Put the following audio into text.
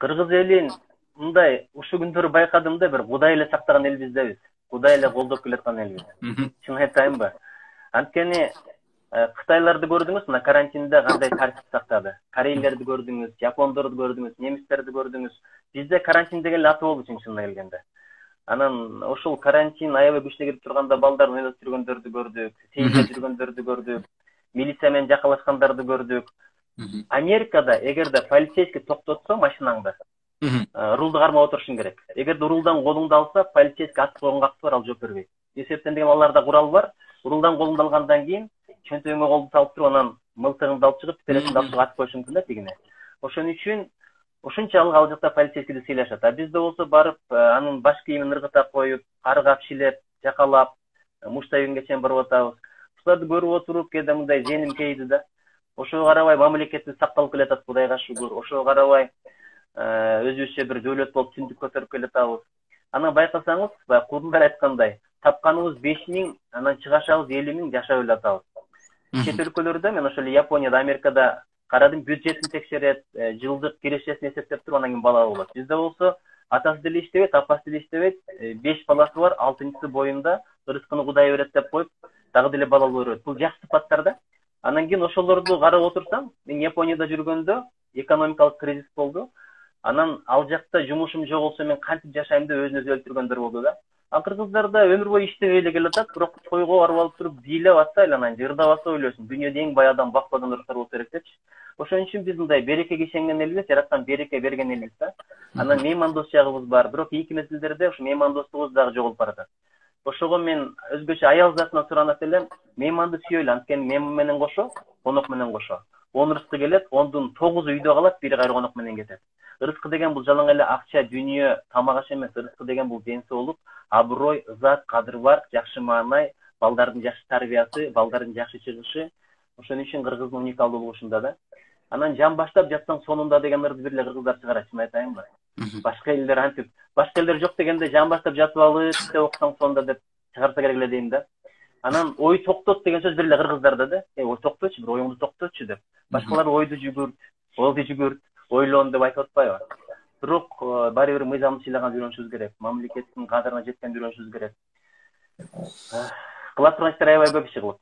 Кыргыз элин мындай ушул күндөрү байкадым да, бир Кудай эле сактаган элбиз дебиз. Кудай эле колдоп келаткан элбиз. Чын айтайынбы? Анткени Кытайларды көрдүңүз, мына карантинде кандай тартип сактады. Корейлерди көрдүңүз, япондорду көрдүңүз, немистерди көрдүңүз. Бизде карантин деген эле аты болду чынына келгенде. Анан ошол карантин аябай күчтүү кирип турганда балдардын ойноп жүргөндөрдү көрдүк, сейилдеп жүргөндөрдү көрдүк, милиция менен жакалашкандарды көрдүк. Америкада эгерде полицейский токтотсо машинаңды, рулду кармап отурушуң керек. Эгерде рулдан колуңду алса, полицейский ат колуңга кагып бар, ал жооп бербейт. Эсептен деген аларда курал бар. Рулдан колуңду алгандан кийин чөнтөгүңө колду салып туруп, анан мылтыгыңды алып чыгып, телефонду алып чыгып атып коюшуң мүмкүн да тигине. Ошон үчүн ушунчалык ал жакта полицейскийди сыйлашат. А бизде болсо барып, анын баш кийимин ыргыта коюп, каргап, шилеп, жакалап, муштайгынга чейин барып атабыз. Ушуларды көрүп отуруп, кээде мындай женим кейди да. Ошого карабай мамлекетибиз сакталып келатат, Кудайга шүгүр. Ошого карабай өзүбүзчө бир дөөлөт болуп түндүк көтөрүп келатабыз. Анан байкасаңыз, баягы курдундар айткандай, тапканыбыз 5000, анан чыгашабыз 50000 жашап эле атабыз. Чет өлкөлөрдө, мен ошол Японияда, Америкада карадым, бюджетин текшерет, жылдык кирешесин эсептеп туруп анан кийин бала болот. Бизде болсо атасы деле иштебейт, апасы деле иштебейт, 5 баласы бар, 6-чысы боюнда рызкыны Кудай берет деп коюп, дагы деле бала боло берет. Бул жакшы сыпаттар да. Анан кийин ошолорду карап отурсам, мен Японияда жүргөндө экономикалык кризис болду. Анан ал жакта жумушум жок болсо мен кантип жашайм деп өзүн өзү өлтүргөндөр болду да. А кыргыздарда өмүр бою иштебей эле келатат, бирок тойго барып алып туруп бийлеп атса, айланайын жырдабаса ойлойсуң, дүйнөдө эң бай адам бакпадан ырыктар болсо керек депчи. Ошон үчүн биз мындай берекеге ишенген элбиз, жараткан береке берген элбиз да. Анан меймандос жагыбыз бар, бирок ийки мезгилдерде ушу меймандостугубуз дагы жоголуп баратат. Ошого мен өзгөчө аял затынан суранат элем, мейманды сүйөлү, анткени мейман менен кошо, конок менен кошо. 10 рызкы келет, 10дун 9-у үйдө калат, бири кайра конок менен кетет. Рызкы деген бул жалаң эле акча, дүйнө, тамак аш эмес. Рызкы деген бул ден соолук, аброй, ызат, кадыр бар, жакшы маанай, балдардын жакшы тарбиясы, балдардын жакшы чыгышы. Ошон үчүн кыргыздын уникалдуулугу ушунда да. Анан жан баштап жатсаң сонунда деген ырды бир эле кыргыздар чыгарат, чын айтайынбы? Башка элдер антип, башка элдер жок дегенде жан баштап жатып алып, китеп окусаң сонунда деп чыгарса керек эле дейм да. Анан ой токтот деген сөз бир эле кыргыздарда да. Ой токточу, бир оюңду токтотчу деп. Башкалар ойду жүгүрт, болду жүгүрт, ойлон деп айтып атпайбы? Бирок баары бир мыйзамды сыйлаган жүрүшүбүз керек. Мамлекеттин кадырына жеткен жүрүшүбүз керек. Кыла турган иштер аябай көп иши кылып.